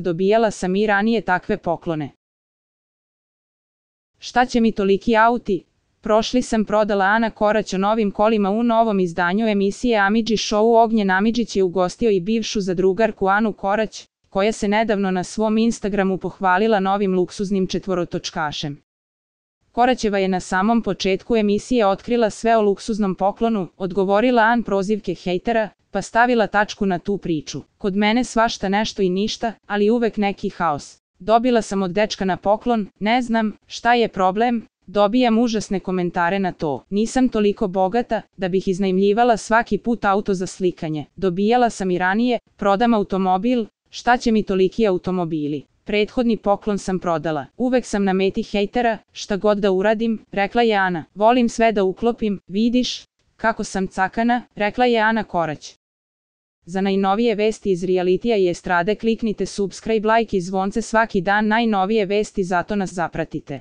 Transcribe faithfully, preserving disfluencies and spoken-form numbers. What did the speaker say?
dobijala sam i ranije takve poklone. Šta će mi toliki auti? Prošli sam prodala Ana Korać o novim kolima u novom izdanju emisije Amidži Show. Ognjen Amidžić je ugostio i bivšu zadrugarku Anu Korać, koja se nedavno na svom Instagramu pohvalila novim luksuznim četvorotočkašem. Koraćeva je na samom početku emisije otkrila sve o luksuznom poklonu, odgovorila An prozivke hejtera, pa stavila tačku na tu priču. Kod mene svašta nešto i ništa, ali uvek neki haos. Dobila sam od dečka na poklon, ne znam, šta je problem? Dobijam užasne komentare na to. Nisam toliko bogata, da bih iznajmljivala svaki put auto za slikanje. Dobijala sam i ranije, prodam automobil, šta će mi toliki automobili? Prethodni poklon sam prodala. Uvek sam na meti hejtera, šta god da uradim, rekla je Ana. Volim sve da uklopim, vidiš, kako sam cakana, rekla je Ana Korać. Za najnovije vesti iz realitija i estrade kliknite subscribe, like i zvonce svaki dan. Najnovije vesti, zato nas zapratite.